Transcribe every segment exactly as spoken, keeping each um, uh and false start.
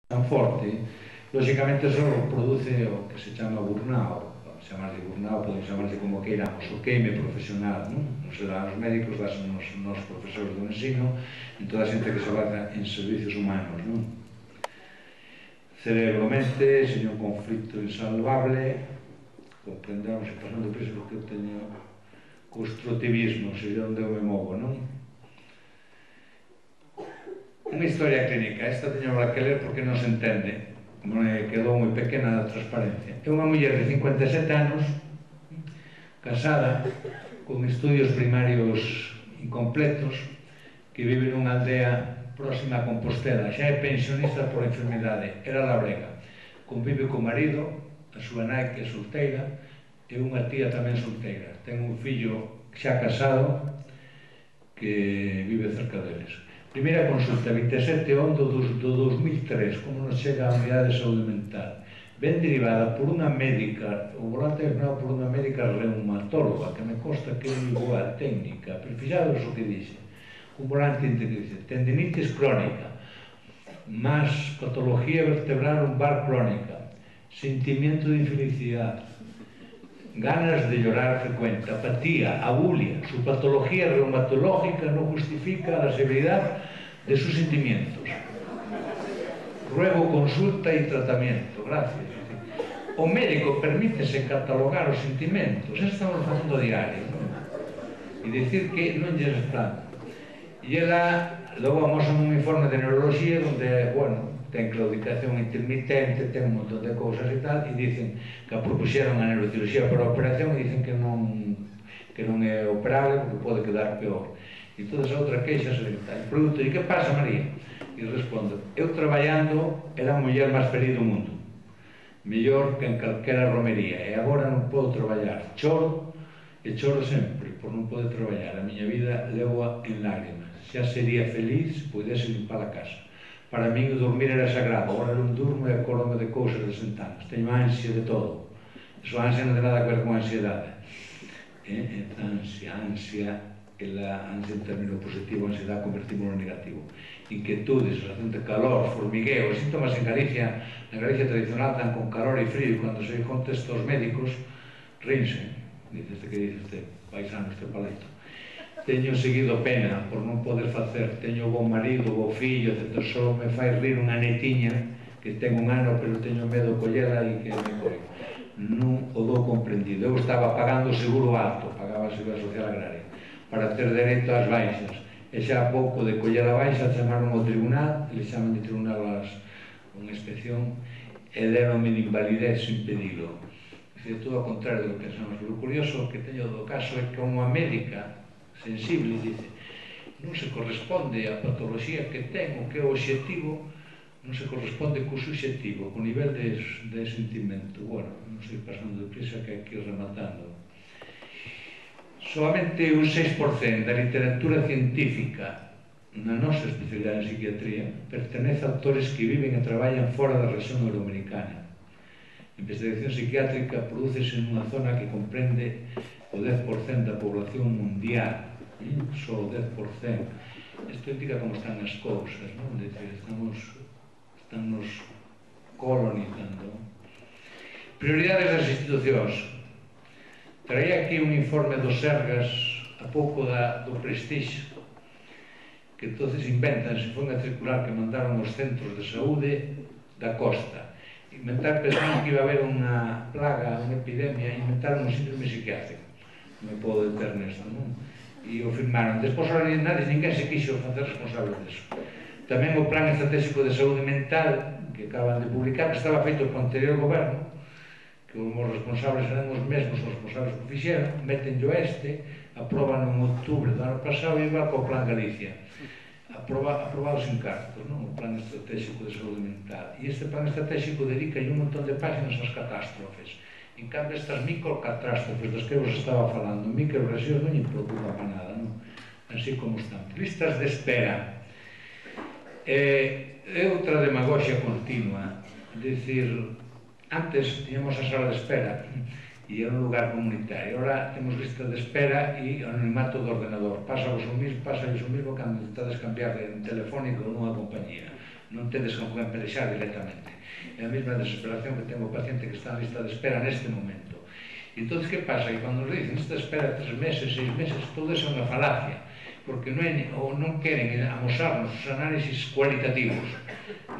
tan forte, lógicamente eso produce o que se chama burnout, chamarse burnout, podemos chamarse como queiramos, o queime profesional, non? Non será os médicos, das nos, nos profesores do ensino, en toda a xente que se basa en servicios humanos, non? Cerebro-mente, señor un conflito insalvable, comprendamos e pasando por iso porque eu teño constructivismo, sería onde eu me movo, non? Unha historia clínica, esta teño que ler porque non se entende, me quedou moi pequena a transparencia. É unha muller de cincuenta e sete anos, casada, con estudios primarios incompletos, que vive nunha aldea próxima a Compostela, xa é pensionista por enfermidade, era labrega. Convive co marido, a súa nai que é solteira, e unha tía tamén solteira. Ten un fillo xa casado que vive cerca deles. Primeira consulta, vinte e sete de onde do dos mil tres, como nos chega a unidade de saúde mental. Ben derivada por unha médica, o volante é por unha médica reumatóloga, que me consta que é igual técnica, pero fixados o que dixe. Un volante que dice, tendinitis crónica, más patología vertebral lumbar crónica, sentimiento de infelicidad, ganas de llorar frecuente, apatía, abulia. Su patología reumatológica no justifica la severidad de sus sentimientos. Ruego consulta y tratamiento. Gracias. O médico permítese catalogar os sentimentos. Eso estamos facendo diario, non? E dicir que non lle está. E ela, logo amosan un informe de neuroloxía onde, bueno, ten claudicación intermitente, ten un montón de cousas e tal, e dicen que a propuxeron a neurocirurxía para a operación e dicen que non que non é operable porque pode quedar peor. E toda esa outra queixa se tal. E pregunto, e que pasa, María? E respondo, eu traballando era a muller máis feliz do mundo, mellor que en calquera romería, e agora non podo traballar, choro e choro sempre por non poder traballar, a miña vida levo en lágrimas. Xa sería feliz se pudese limpar a casa. Para min o dormir era sagrado, agora non durmo e acórdome de cousas de sentanas, teño ansia de todo. Eso ansia non ten nada a ver con ansiedade. Eh? Ansia, ansia, a ansia en término positivo, a ansiedade convertimos no negativo. Inquietudes, sensación de calor, formigueo, os síntomas en Galicia, na Galicia tradicional dan con calor e frío, e cando se contesta aos médicos, rinse. Dice este que dice este paisano, este paleto. Teño seguido pena por non poder facer, teño bo marido, bo fillo, etcétera. Só me fai rir unha netiña que ten un ano, pero teño medo de collela e que me coi. Non o dou comprendido. Eu estaba pagando seguro alto, pagaba a Seguridade Social Agraria, para ter dereito ás baixas. E xa a pouco de coller a baixa, chamaron ao tribunal, e le chaman de tribunal as, unha inspección, e deronme de invalidez sin pedilo. É dicir, todo ao contrario do que pensamos. Pero o curioso que teño do caso é que unha médica sensible, dice, non se corresponde a patoloxía que ten, o que é o obxectivo, non se corresponde co subxectivo, co nivel de, de sentimento. Bueno, non sei pasando de prisa que aquí rematando. Solamente un seis por cento da literatura científica na nosa especialidade en psiquiatría pertenece a autores que viven e traballan fora da región euroamericana. A investigación psiquiátrica prodúcese nunha zona que comprende o dez por cento da población mundial, só o dez por cento. Isto indica como están as cousas, non? Decir, estamos, estamos colonizando. Prioridades das institucións. Traía aquí un informe dos Sergas a pouco da, do Prestige, que entonces inventan, se foi unha circular que mandaron os centros de saúde da costa. Inventar, pensaron que iba a haber unha plaga, unha epidemia, e inventaron un síndrome psiquiátrico. Non me podo deter nesto, non? E o firmaron. Despois, ahora nadie, ninguén se quixo facer responsable deso. Tamén o Plan Estratégico de Saúde Mental, que acaban de publicar, que estaba feito por anterior goberno, que os responsables eran os mesmos os responsables que fixeron, metenllo este, aproban en outubro do ano pasado e igual co Plan Galicia. Aprobados en cartos, non? O Plan Estratégico de Saúde Mental. E este Plan Estratégico dedica un montón de páginas ás catástrofes. En cambio, estas microcatástrofes das que vos estaba falando, microregións non lle preocupa para nada, non? Así como están. Listas de espera. É outra demagoxia continua. É dicir, antes tiñamos a sala de espera e era un lugar comunitario. Ahora temos listas de espera e anonimato do ordenador. Pasa vos o mismo, pasa vos o mismo cando intentades cambiar de telefónico nunha compañía. non tedes con quen pelexar directamente. É a mesma desesperación que ten o paciente que está en lista de espera neste momento. E entón, que pasa? Que cando nos dicen lista de espera tres meses, seis meses, todo iso é unha falacia, porque non, é, ou non queren amosarnos os análisis cualitativos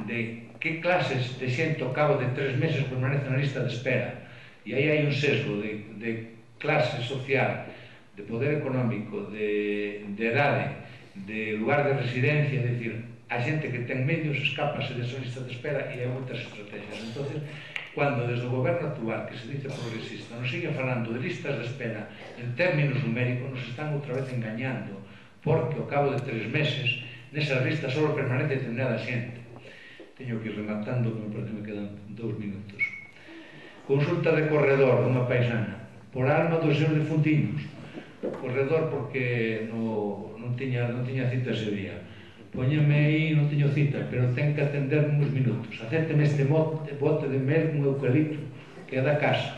de que clases de xente ao cabo de tres meses permanece na lista de espera. E aí hai un sesgo de, de clase social, de poder económico, de, de edade, de lugar de residencia, é dicir, a xente que ten medios escápase desa lista de espera e hai moitas estrategias. Entón, cando desde o goberno actual, que se dice progresista, nos sigue falando de listas de espera en términos numéricos, nos están outra vez engañando, porque ao cabo de tres meses nesas listas só permanece determinada xente. Teño que ir rematando, que me parece que me quedan dous minutos. Consulta de corredor dunha paisana por alma dos seus defuntinos. Corredor porque no, non, tiña, non tiña cita ese día. Póñeme aí, non teño cita, pero ten que atender uns minutos. Acépteme este bote, bote de mel con eucalipto, que é da casa.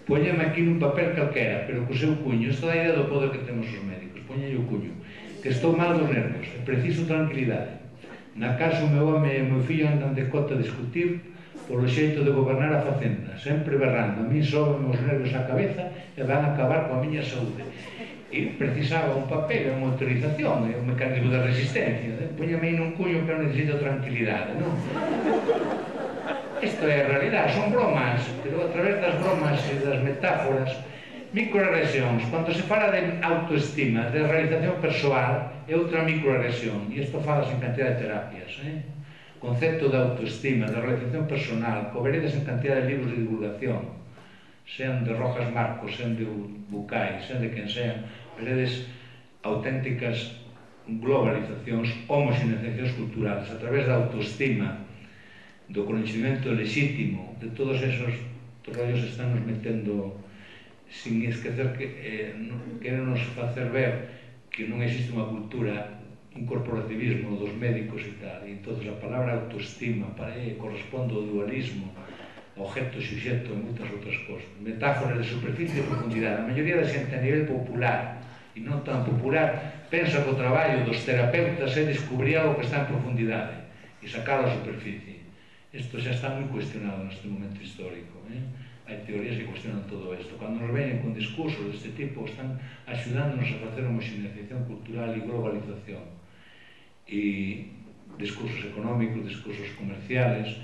Póñeme aquí nun papel calquera, pero co seu cuño. Isto dá idea do poder que temos os médicos. Póñeme o cuño. Que estou mal dos nervios, e preciso tranquilidade. Na casa o meu home e o meu fillo andan de cota a discutir polo xeito de gobernar a facenda, sempre berrando. A mí soben os nervios á cabeza e van a acabar coa miña saúde. E precisaba un papel, unha autorización, un mecanismo de resistencia. Póñame aí nun cuño que eu necesito tranquilidade, non? Isto é a realidade, son bromas, pero a través das bromas e das metáforas, microagresións. Cando se fala de autoestima, de realización persoal, é outra microagresión, e isto falas en cantidad de terapias, eh? Concepto de autoestima, de realización personal, co veredes en cantidad de libros de divulgación, sean de Rojas Marcos, sean de Bucay, sean de quen sean, veredes auténticas globalizacións, homoxeneizacións culturales, a través da autoestima, do coñecimento legítimo, de todos esos rollos están nos metendo, sin esquecer que eh, querenos facer ver que non existe unha cultura, un corporativismo dos médicos e tal, e entón a palabra autoestima para eh, corresponde ao dualismo, objeto, suxeto e moitas outras cosas. Metáforas de superficie e profundidade. A maioría da xente a nivel popular e non tan popular pensa que o traballo dos terapeutas é descubrir algo que está en profundidade e sacar a superficie. Isto xa está moi cuestionado neste momento histórico. Eh? Hai teorías que cuestionan todo isto. Cando nos veñen con discursos deste tipo, están axudándonos a facer homoxeneización cultural e globalización. E discursos económicos, discursos comerciales,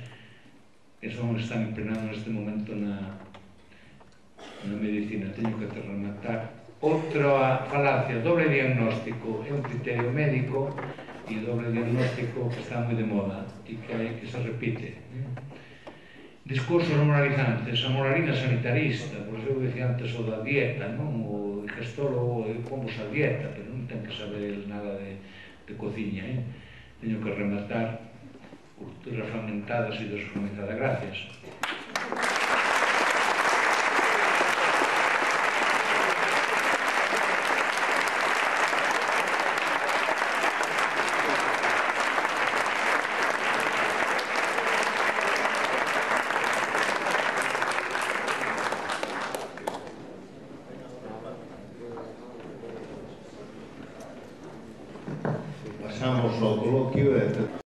que son os que están impregnando neste momento na, na medicina. Teño que te rematar. Outra falacia, doble diagnóstico, é un criterio médico e doble diagnóstico que está moi de moda e que, hai, que se repite. Discursos moralizantes, a moralina sanitarista, pois eu dicía antes o da dieta, non? O digestólogo e pomos a dieta, pero non ten que saber nada de, de cociña, eh? Teño que rematar culturas fragmentadas e desfragmentadas. Gracias. Pasamos ao coloquio e